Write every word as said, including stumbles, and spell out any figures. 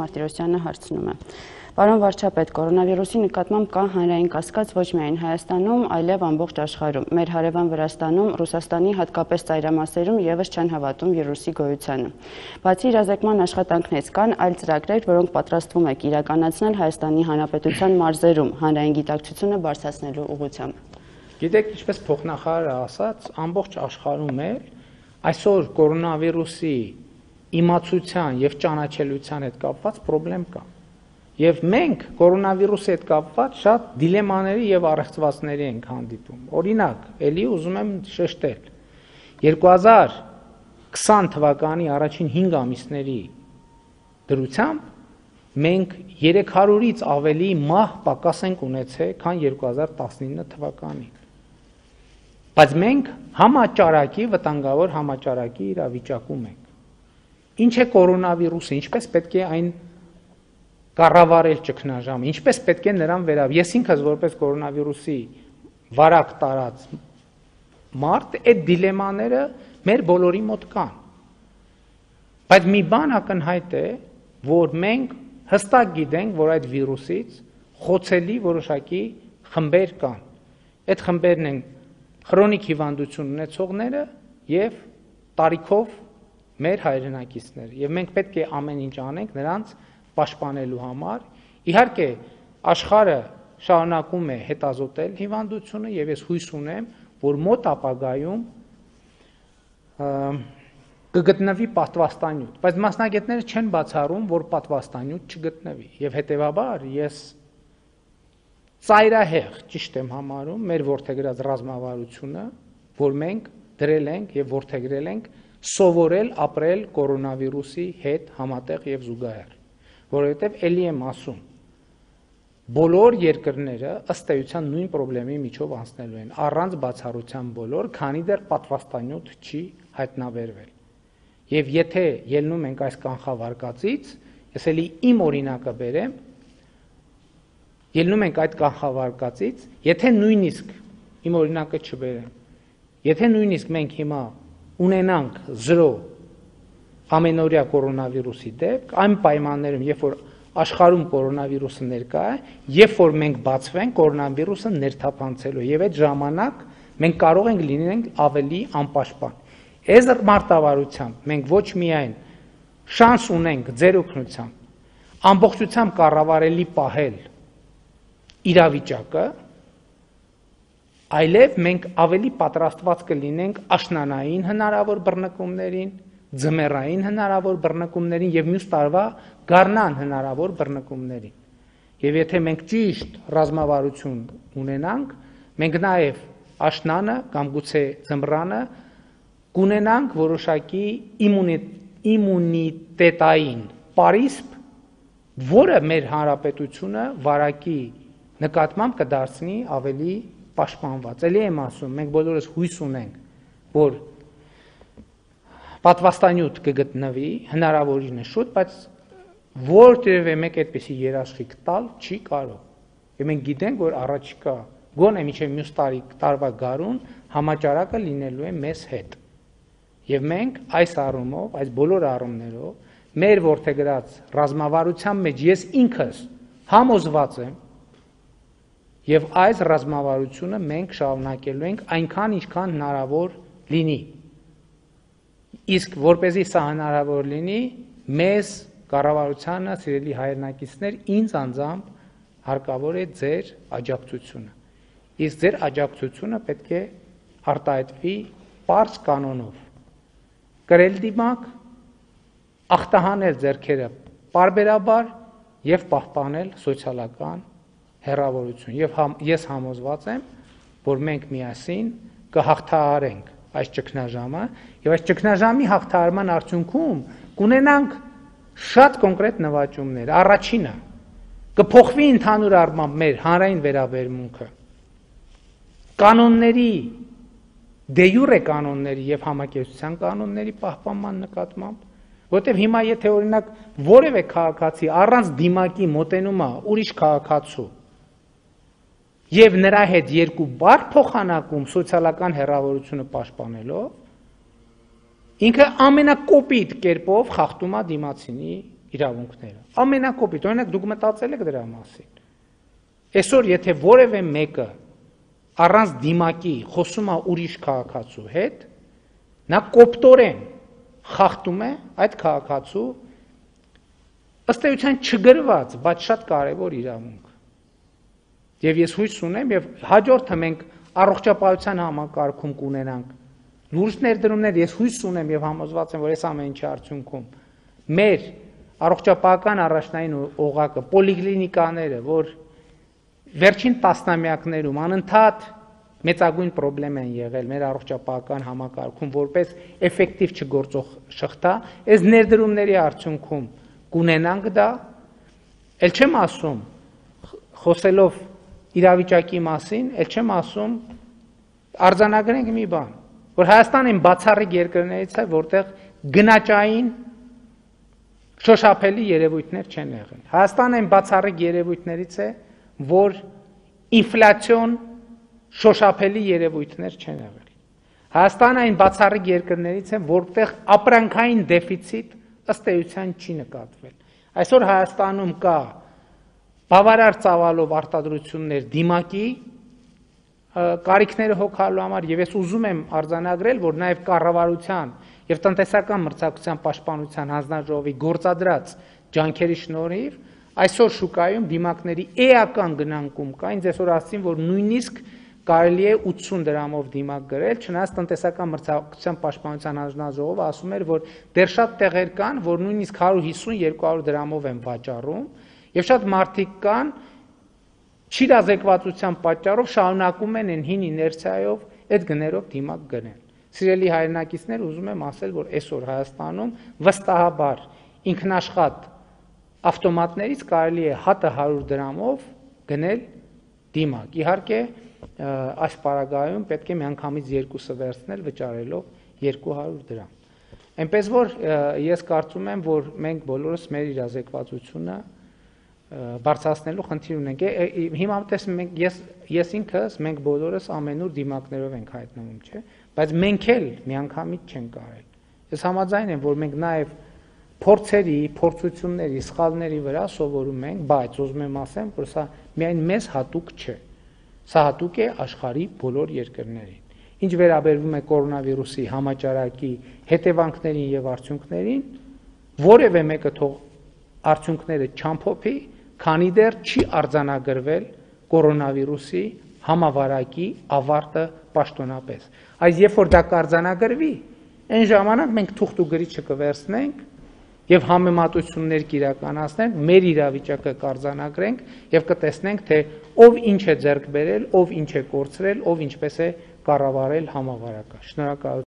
Մարտիրոսյանը հարցնում է։ Պարոն վարչապետ, կորոնավիրուսի նկատմամբ կա հանրային կասկած ոչ միայն Հայաստանում, այլև ամբողջ աշխարհում։ Մեր հարևան Վրաստանում, Ռուսաստանի հատկապես ծայրամասերում ևս չեն հավատում վիրուսի գոյությանը։ Բացի իրազեկման աշխատանքներից կան այլ ծրագրեր, որոնք պատրաստվում եք իրականացնել Հայաստանի Հանրապետության մարզերում հանրային գիտակցությունը բարձրացնելու ուղղությամբ։ Գիտեք, ինչպես փոխնախարարը ասաց, ամբողջ աշխարհում է այսօր կորոնավիրուսի իմացության եւ ճանաչելիության հետ կապված խնդրեմ կա։ Եվ մենք կորոնավիրուսի հետ կապված շատ դիլեմաների եւ առեղծվածների ենք հանդիպում։ Օրինակ, ելի ուզում եմ շեշտել, երկու հազար քսան թվականի առաջին հինգ ամիսների դրությամբ մենք երեք հարյուրից ավելի մահ պակաս ենք ունեցել, քան երկու հազար տասնինը թվականին։ Բայց մենք համաճարակի վտանգավոր համաճարակի իրավիճակում ենք։ Ինչ է կորոնավիրուսը, ինչպես պետք է այն կառավարել ճգնաժամը, ինչպես պետք է նրան վերաբերել։ Ես ինքս որպես կորոնավիրուսի վարակ տարած մարդ, այդ դիլեմաները մեր բոլորի մոտ կան։ Բայց մի բան ակնհայտ է, որ մենք հստակ գիտենք, որ այդ վիրուսից խոցելի որոշակի խմբեր կան։ Այդ խմբերն են քրոնիկ հիվանդություն ունեցողները եւ տարիքով մեր հայրենակիցները։ Եվ մենք պետք է ամեն ինչ անենք նրանց պաշտպանելու համար։ Իհարկե, աշխարհը շարունակում է հետազոտել հիվանդությունը եւ ես հույս ունեմ, որ մոտ ապագայում կգտնվի պատվաստանյութ, բայց մասնագետները չեն բացառում, որ պատվաստանյութ չգտնվի եւ հետեւաբար ես ծայրահեղ ճիշտ եմ համարում մեր որդեգրած ռազմավարությունը, որ մենք դրել ենք եւ որդեգրել ենք սովորել ապրել կորոնավիրուսի հետ համատեղ եւ զուգահեռ, որովհետեւ ելի եմ ասում, բոլոր երկրները ըստ էության նույն խնդրի միջով անցնելու են, առանց բացառության բոլոր, քանի դեռ պատվաստանյութ չի հայտնաբերվել։ Եվ եթե ելնում ենք այս կանխավարկածից, ես էլի իմ օրինակը բերեմ, ելնում ենք այդ կանխավարկածից, եթե նույնիսկ իմ օրինակը չբերեմ, եթե նույնիսկ մենք հիմա ունենանք զրո ամենօրյա կորոնավիրուսի դեպք, այն պայմաններում, երբ որ աշխարհում կորոնավիրուսը ներկա է, երբ որ մենք բացվենք կորոնավիրուսը ներթափանցելու եւ այդ ժամանակ մենք կարող ենք լինենք ավելի անպաշտպան։ Այս մարտավարությամբ մենք ոչ միայն շանս ունենք ձեր օգնությամբ ամբողջությամբ կառավարելի պահել իրավիճակը, այլև մենք ավելի պատրաստված կլինենք աշնանային հնարավոր բռնկումներին, ձմեռային հնարավոր բռնկումներին եւ մյուս տարվա գարնան հնարավոր բռնկումներին։ Եվ եթե մենք ճիշտ ռազմավարություն ունենանք, մենք նաեւ աշնանը կամ գուցե ձմռանը կունենանք որոշակի իմունիտետային պարիսպ, որը մեր հանրապետությունը վարակի նկատմամբ կդարձնի ավելի պաշտպանված։ Էլի եմ ասում, մենք բոլորս հույս ունենք, որ պատվաստանյութ կգտնվի, հնարավորինս շուտ, բայց որտեղև մեկ այդպիսի երաշխիք տալ չի կարող։ Եվ մենք գիտենք, որ առաջիկա գոնե մինչև մյուս տարի տարվա գարուն համաճարակը լինելու է մեզ հետ։ Եվ մենք այս առումով, այս բոլոր առումներով մեր որդեգրած ռազմավարության մեջ ես ինքս համոզված եմ եւ այս ռազմավարությունը մենք շարունակելու ենք այնքան ինչքան հնարավոր լինի։ Իսկ որպեսզի սա հնարավոր լինի, մեզ կառավարությանը, սիրելի հայրենակիցներ, ինձ անձամբ հարկավոր է ձեր աջակցությունը։ Իսկ ձեր աջակցությունը պետք է արտահայտվի պարզ կանոնով։ Կրել դիմակ, ախտահանել ձեռքերը պարբերաբար եւ պահպանել սոցիալական հեռավորություն։ Եվ համ, ես համոզված եմ, որ մենք միասին կհաղթահարենք այս ճգնաժամը եւ այս ճգնաժամի հաղթահարման արդյունքում կունենանք շատ կոնկրետ նվաճումներ։ Առաջինը կփոխվի ընդհանուր առմամբ մեր հանրային վերաբերմունքը կանոնների, դե յուրե կանոնների եւ համակերպության կանոնների պահպանման նկատմամբ, որտեւ հիմա եթե օրինակ որևէ քաղաքացի առանց դիմակի մոտենում է ուրիշ քաղաքացու եւ նրա հետ երկու բառ փոխանակում սոցիալական հեռավորությունը պաշտպանելով, ինքը ամենակոպիտ կերպով խախտում է դիմացինի իրավունքները։ Ամենակոպիտ, օրինակ դուք մտածել եք դրա մասին։ Այսօր եթե որևէ մեկը առանց դիմակի խոսում է ուրիշ քաղաքացու հետ, նա կոպտորեն խախտում է այդ քաղաքացու ըստ էության չգրված, բայց շատ կարևոր իրավունք։ Եվ ես հույս ունեմ, եւ հաջորդը մենք առողջապահության համակարգում կունենանք լուրջ ներդրումներ, ես հույս ունեմ եւ համոզված եմ, որ այս ամեն ինչի արդյունքում մեր առողջապահական առաջնային օղակը, պոլիկլինիկաները, որ վերջին տասնամյակներում անընդհատ մեծագույն պրոբլեմ են եղել մեր առողջապահական համակարգում, որպես էֆեկտիվ չգործող շղթա, այս ներդրումների արդյունքում կունենանք դա, ել չեմ ասում, խոսելով իրավիճակի մասին, ել չեմ ասում, արձանագրենք մի բան, որ Հայաստանը այն բացառիկ երկրներից է, որտեղ գնաճային շոշափելի երևույթներ չեն եղել։ Հայաստանը այն բացառիկ երևույթներից է, որ ինֆլյացիոն շոշափելի երևույթներ չեն եղել։ Հայաստանը այն բացառիկ երկրներից է, որտեղ ապրանքային դեֆիցիտ ըստ էության չի նկատվել։ Այսօր Հայաստանում կա բավարար ծավալով արտադրություններ դիմակի կարիքները հոգալու համար եւ ես ուզում եմ արձանագրել, որ նաեւ կառավարության եւ տնտեսական մրցակցության պաշտպանության հանձնաժողովի գործադրած ջանքերի շնորհիվ այսօր շուկայում դիմակների էական գնանկում կա, ինձ այսօր ասացին, որ նույնիսկ կարելի է ութսուն դրամով դիմակ գրել, չնայած տնտեսական մրցակցության պաշտպանության հանձնաժողովը ասում էր, որ դեռ շատ տեղեր կան, որ նույնիսկ հարյուր հիսուն երկու հարյուր դրամով են վաճառում, եւ շատ մարդիկ կան չիրազեկվածության պատճառով շարունակում են այն հին իներցիայով այդ գներով դիմակ գնել։ Սիրելի հայրենակիցներ, ուզում եմ ասել, որ այսօր Հայաստանում վստահաբար ինքնաշխատ ավտոմատներից կարելի է հատը հարյուր դրամով գնել դիմակ։ Իհարկե, այս պարագայում պետք է միանգամից երկուսը վերցնել վճարելով երկու հարյուր դրամ։ Այնպես որ ես կարծում եմ, որ մենք բոլորս մեր իրազեկվածությունը բարձրացնելու խնդիր ունենք։ Հիմա տեսնում ենք, ես ես ինքս մենք բոլորս ամենուր դիմակներով ենք հայտնվում, չէ՞, բայց մենք էլ միանգամից չենք կարել։ Ես համաձայն եմ, որ մենք նաև փորձերի, փորձությունների, սխալների վրա սովորում ենք, բայց ուզում եմ ասեմ, որ սա միայն մեզ հատուկ չէ։ Սա հատուկ է աշխարհի բոլոր երկրներին։ Ինչ վերաբերվում է կորոնավիրուսի համաճարակի հետևանքներին եւ արդյունքներին, որևէ մեկը թող արդյունքները չամփոփի, քանի դեռ չի արձանագրվել կորոնավիրուսի համավարակի ավարտը պաշտոնապես։ Այս երբ որ դա կարձանագրվի, այն ժամանակ մենք թուղթ ու գրիչը կվերցնենք եւ համեմատություններ կիրականացնենք, մեր իրավիճակը կարձանագրենք եւ կտեսնենք, թե ով ինչ է ձեռք բերել, ով ինչ է կորցրել, ով ինչպես է կառավարել համավարակը։ Շնորհակալ